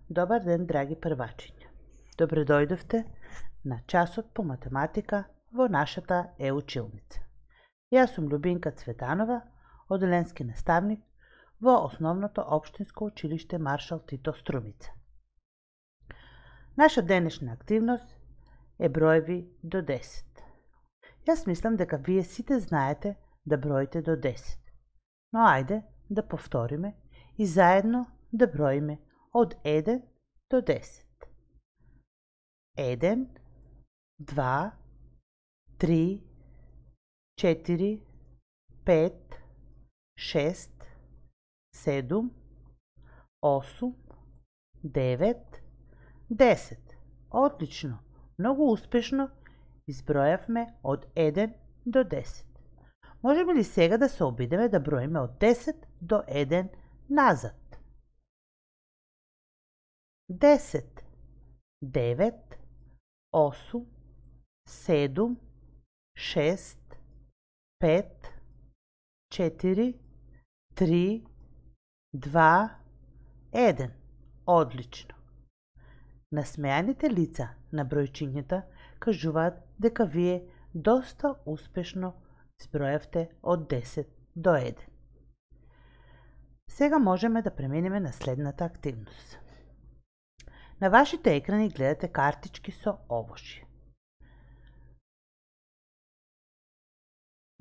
Добар ден, драги првачиња. Добре дојдовте на часот по математика во нашата е-училница. Јас сум Љубинка Цветанова, оделенски наставник во Основното општинско училиште Маршал Тито Струмица. Наша денешна активност е броеви до 10. Јас мислам дека вие сите знаете да броите до 10. Но ајде да повториме и заедно да броиме од 1 до 10. 1, 2, 3, 4, 5, 6, 7, 8, 9, 10. Одлично, многу успешно избројавме од 1 до 10. Можеме ли сега да се обидеме да броиме од 10 до 1 назад? 10, 9, 8, 7, 6, 5, 4, 3, 2, 1. Одлично. Насмеаните лица на бројчињата кажуваат дека вие доста успешно избројавте од 10 до 1. Сега можеме да преминеме на следната активност. На вашите екрани гледате картички со овошје.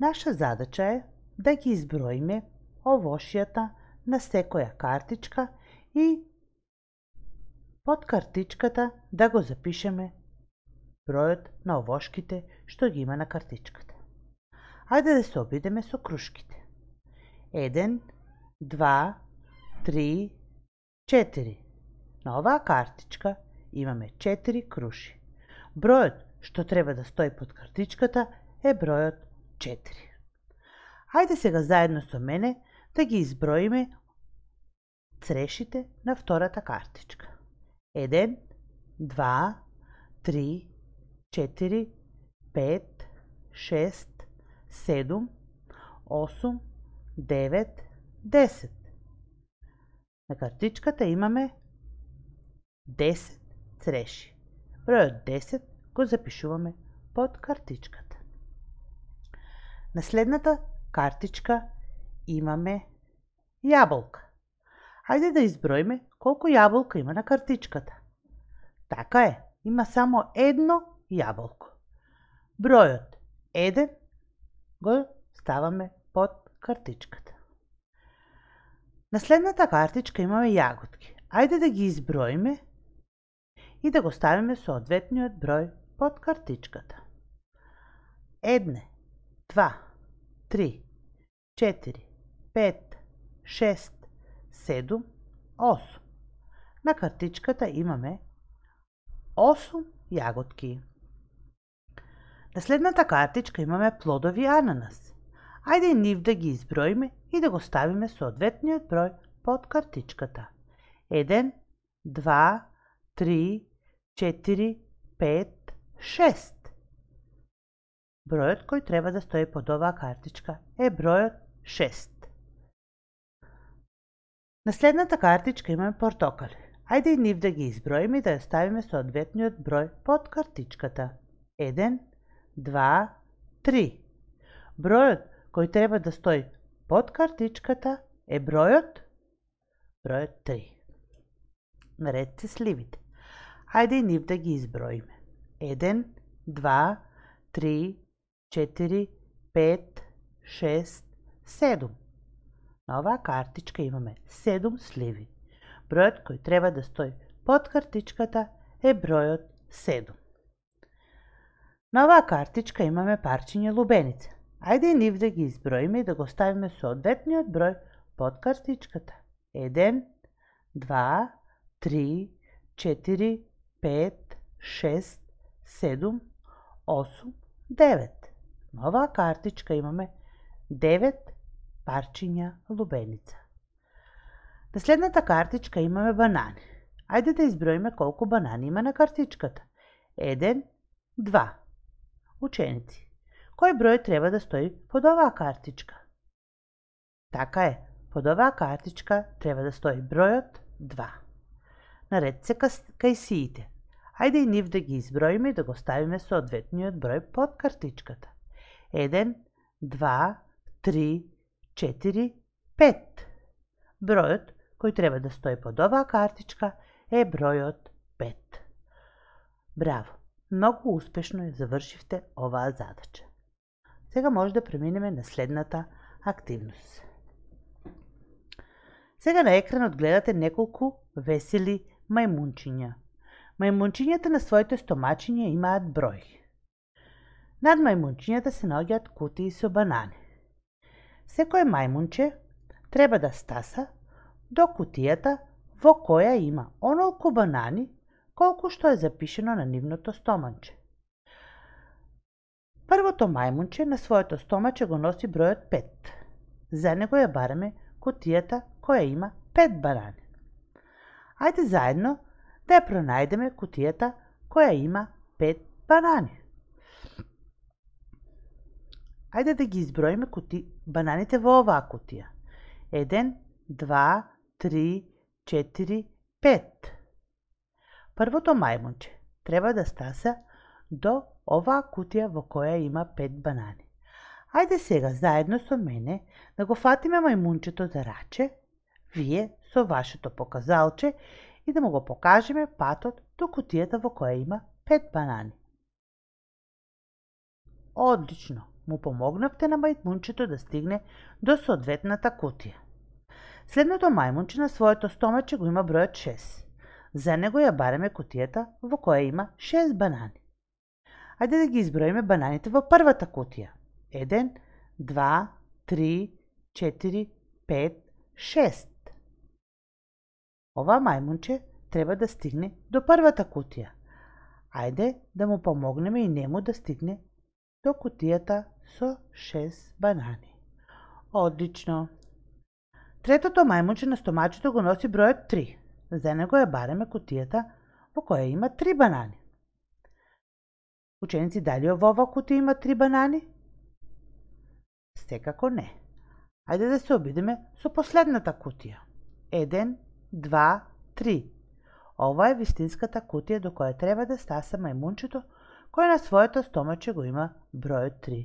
Наша задача е да ги изброиме овошјата на секоја картичка и под картичката да го запишеме бројот на овошките што ги има на картичката. Ајде да се обидеме со крушките. 1, 2, 3, 4. На оваа картичка имаме 4 круши. Бројот што треба да стои под картичката е бројот 4. Ајде сега заедно со мене да ги изброиме црешите на втората картичка. 1, 2, 3, 4, 5, 6, 7, 8, 9, 10. На картичката имаме 10 цреши. Бројот 10 го запишуваме под картичката. На следната картичка имаме јаболка. Ајде да изброиме колку јаболка има на картичката. Така е, има само едно јаболко. Бројот 1 го ставаме под картичката. На следната картичка имаме јаготки. Ајде да ги изброиме и да го ставиме соодветниот број под картичката. 1, 2, 3, 4, 5, 6, 7, 8. На картичката имаме 8 јаготки. На следната картичка имаме плодови ананас. Ајде и нив да ги изброиме и да го ставиме соодветниот број под картичката. 1, 2, 3, 4, 5, 6. Бројот кој треба да стои под оваа картичка е бројот 6. На следната картичка имаме портокали. Ајде и нив да ги изброиме и да ја ставиме соодветниот број под картичката. 1, 2, 3. Бројот кој треба да стои под картичката е бројот 3. Наред се сливите. Ајде и нив да ги изброиме. 1, 2, 3, 4, 5, 6, 7. На оваа картичка имаме 7 сливи. Бројот кој треба да стои под картичката е бројот 7. На оваа картичка имаме парчиња лубеница. Ајде и нив да ги изброиме и да го ставиме соодветниот број под картичката. 1, 2, 3, 4, 5, 6, 7, 8, 9. На оваа картичка имаме 9 парчиња лубеница. На следната картичка имаме банани. Ајде да изброиме колку банани има на картичката. 1, 2. Ученици, кој број треба да стои под оваа картичка? Така е, под оваа картичка треба да стои бројот 2. наред се кајсиите. Ајде и нив да ги изброиме и да го ставиме соодветниот број под картичката. 1, 2, 3, 4, 5. Бројот кој треба да стои под оваа картичка е бројот 5. Браво! Многу успешно ја завршивте оваа задача. Сега може да преминеме на следната активност. Сега на екранот гледате неколку весели мајмунчиња. Мајмунчињата на своите стомачиња имаат број. Над мајмунчињата се наоѓаат кутии со банани. Секое мајмунче треба да стаса до кутијата во која има онолку банани колку што е запишено на нивното стомаче. Првото мајмунче на своето стомаче го носи бројот 5. За него ја бараме кутијата која има 5 банани. Ајде заедно да ја пронајдеме кутијата која има 5 банани. Ајде да ги изброиме бананите во оваа кутија. 1, 2, 3, 4, 5. Првото мајмунче треба да стаса до оваа кутија во која има 5 банани. Ајде сега заедно со мене да го фатиме мајмунчето за раче, вие со вашето показалче, и да му го покажеме патот до кутијата во која има 5 банани. Одлично! Му помогнавте на мајмунчето да стигне до соодветната кутија. Следното мајмунче на своето стомаче го има бројот 6. За него ја бараме кутијата во која има 6 банани. Ајде да ги изброиме бананите во првата кутија. 1, 2, 3, 4, 5, 6. Ова мајмунче треба да стигне до првата кутија. Ајде да му помогнеме и нему да стигне до кутијата со 6 банани. Одлично! Третото мајмунче на стомачето го носи бројот 3. За него ја бараме кутијата во која има 3 банани. Ученици, дали во оваа кутија има 3 банани? Секако не. Ајде да се обидеме со последната кутија. 1, 2, 3. Ова е вистинската кутија до која треба да стаса мајмунчето кој на своето стомаче го има бројот 3.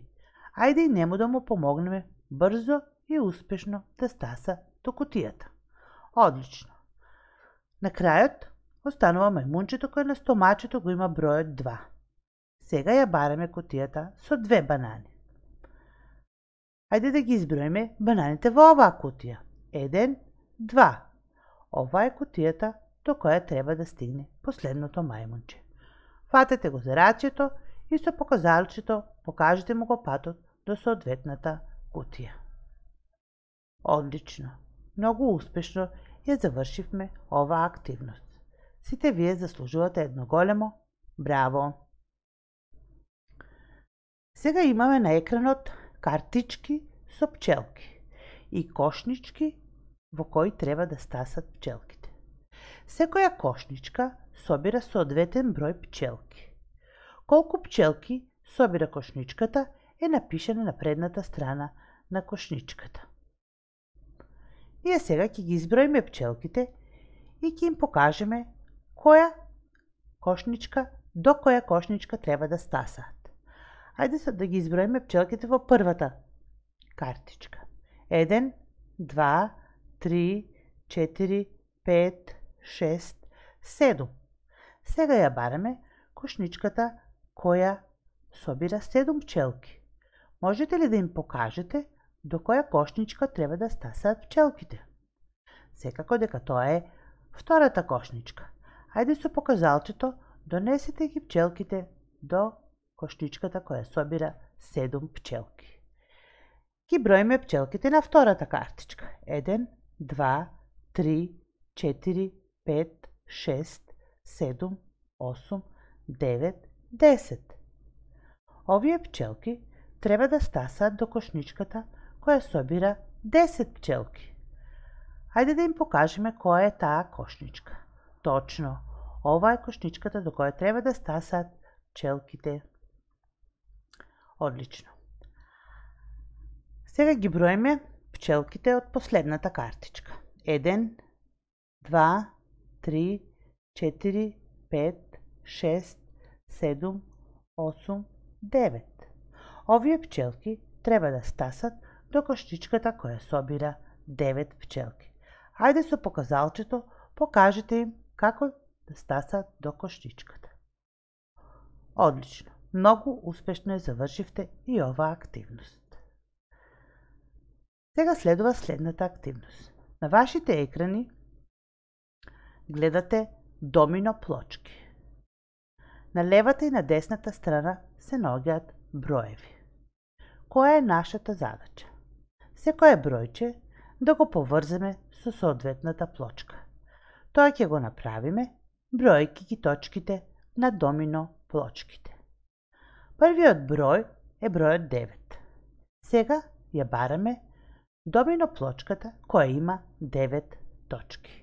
Ајде и нему да му помогнеме брзо и успешно да стаса до кутијата. Одлично! На крајот останува мајмунчето кој на стомачето го има бројот 2. Сега ја бараме кутијата со 2 банани. Ајде да ги изброиме бананите во оваа кутија. 1, 2. Ова е кутијата до која треба да стигне последното мајмунче. Фатете го за рачето и со показалчето покажете му го патот до соодветната кутија. Одлично! Многу успешно ја завршивме оваа активност. Сите вие заслужувате едно големо браво! Сега имаме на екранот картички со пчелки и кошнички во кои треба да стасат пчелките. Секоја кошничка собира соодветен број пчелки. Колку пчелки собира кошничката е напишано на предната страна на кошничката. Ние сега ќе ги изброиме пчелките и ќе им покажеме до која кошничка треба да стасаат. Ајде да ги изброиме пчелките во првата картичка. 1, 2, 3, 4, 5, 6, 7. Сега ја бараме кошничката која собира 7 пчелки. Можете ли да им покажете до која кошничка треба да стасаат пчелките? Секако дека тоа е втората кошничка. Ајде со показалчето донесете ги пчелките до кошничката која собира 7 пчелки. Ги броиме пчелките на втората картичка. 1, 2, 3, 4, 5, 6, 7, 8, 9, 10. Овие пчелки треба да стасаат до кошничката која собира 10 пчелки. Ајде да им покажеме која е таа кошничка. Точно, ова е кошничката до која треба да стасаат пчелките. Одлично. Сега ги броиме пчелките од последната картичка. 1, 2, 3, 4, 5, 6, 7, 8, 9. Овие пчелки треба да стасат до коштичката која собира 9 пчелки. Ајде со показалчето покажете им како да стасат до коштичката. Одлично, многу успешно ја завршивте и оваа активност. Сега следува следната активност. На вашите екрани гледате домино плочки. На левата и на десната страна се наоѓаат броеви. Која е нашата задача? Секое бројче да го поврземе со соодветната плочка. Тоа ќе го направиме бројки ги точките на домино плочките. Првиот број е бројот 9. Сега ја бараме домино плочката која има 9 точки.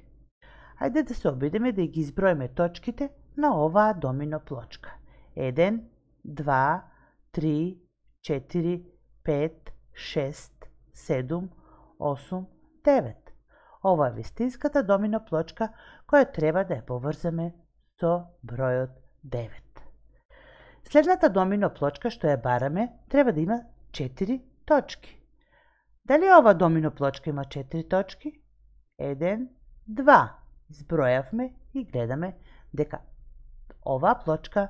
Ајде да се обидеме да ги изброиме точките на оваа домино плочка. 1, 2, 3, 4, 5, 6, 7, 8, 9. Ова е вистинската домино плочка која треба да ја поврземе со бројот 9. Следната домино плочка што ја бараме треба да има 4 точки. Дали ова домино плочка има 4 точки? 1, 2. Избројавме и гледаме дека оваа плочка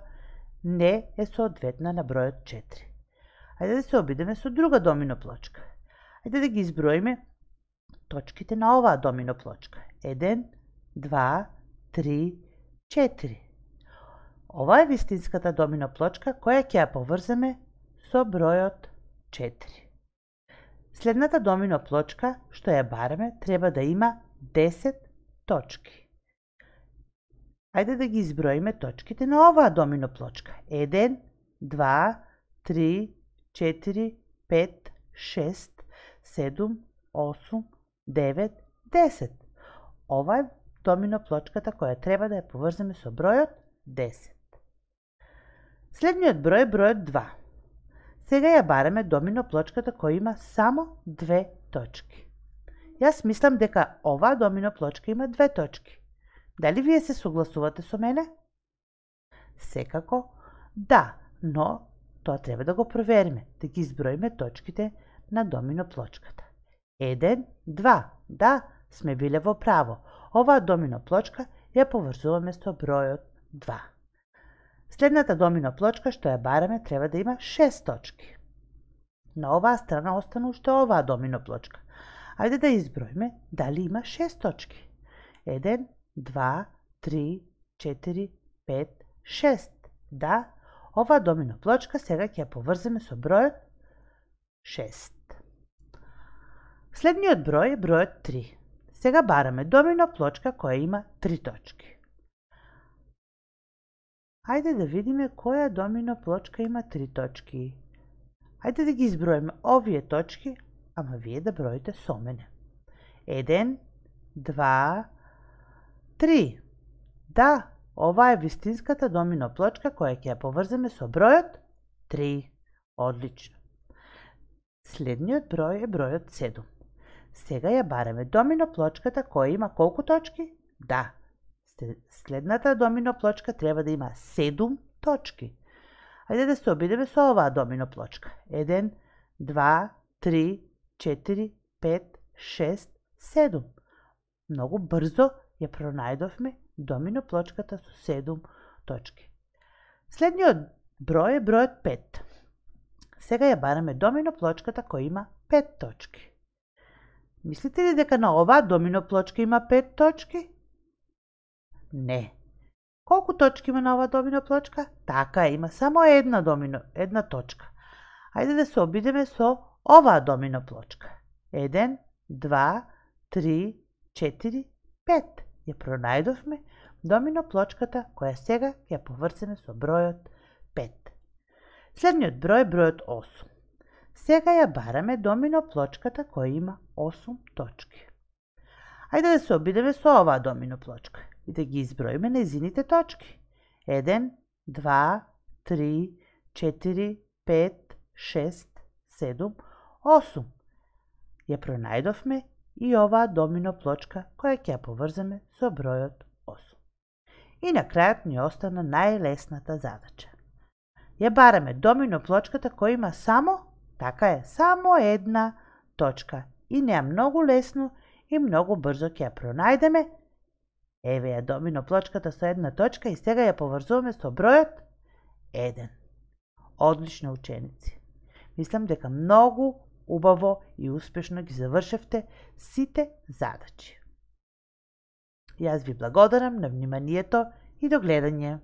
не е соодветна на бројот 4. Ајде да се обидеме со друга домино плочка. Ајде да ги изброиме точките на оваа домино плочка. 1, 2, 3, 4. Ова е вистинската домино плочка која ќе ја поврземе со бројот 4. Следната домино плочка што ја бараме треба да има 10 точки. Ајде да ги изброиме точките на оваа домино плочка. 1, 2, 3, 4, 5, 6, 7, 8, 9, 10. Ова е домино плочката која треба да ја поврземе со бројот 10. Следниот број е бројот 2. Сега ја бараме домино плочката која има само 2 точки. Јас мислам дека оваа домино плочка има 2 точки. Дали вие се согласувате со мене? Секако да, но тоа треба да го провериме, да ги изброиме точките на домино плочката. 1, 2, да, сме биле во право. Оваа домино плочка ја поврзуваме со бројот 2. Следната домино плочка што ја бараме треба да има 6 точки. На оваа страна остана уште оваа домино плочка. Ајде да изброиме дали има 6 точки. 1, 2, 3, 4, 5, 6. Да, оваа домино плочка сега ќе ја поврземе со бројот 6. Следниот број е бројот 3. Сега бараме домино плочка која има 3 точки. Ајде да видиме која домино плочка има 3 точки. Ајде да ги изброиме овие точки, ама вие да броите со мене. 1, 2, 3. Да, ова е вистинската домино плочка која ќе ја поврземе со бројот 3. Одлично. Следниот број е бројот 7. Сега ја бараме домино плочката која има колку точки? Да. Следната домино плочка треба да има 7 точки. Ајде да се обидеме со оваа домино плочка. 1, 2, 3, 4, 5, 6, 7. Многу брзо ја пронајдовме домино плочката со 7 точки. Следниот број е бројот 5. Сега ја бараме домино плочката која има 5 точки. Мислите ли дека на оваа домино плочка има 5 точки? Не. Колку точки има на оваа домино плочка? Така, има само една точка. Ајде да се обидеме со оваа домино плочка. 1, 2, 3, 4, 5. Ја пронајдовме домино плочката која сега ќе ја поврземе со бројот 5. Следниот број е бројот 8. Сега ја бараме домино плочката која има 8 точки. Ајде да се обидеме со оваа домино плочка и да ги изброиме нејзините точки. 1, 2, 3, 4, 5, 6, 7, 8. Ја пронајдовме и оваа домино плочка која ќе ја поврземе со бројот 8. И на крајот ни остана најлесната задача. Ја бараме домино плочката која има само една точка и не е многу лесно и многу брзо ќе ја пронајдеме. Еве ја домино плочката со една точка и сега ја поврзуваме со бројот 1. Одлично, ученици. Мислам дека многу убаво и успешно ги завршевте сите задачи. Јас ви благодарам на вниманието и до гледање.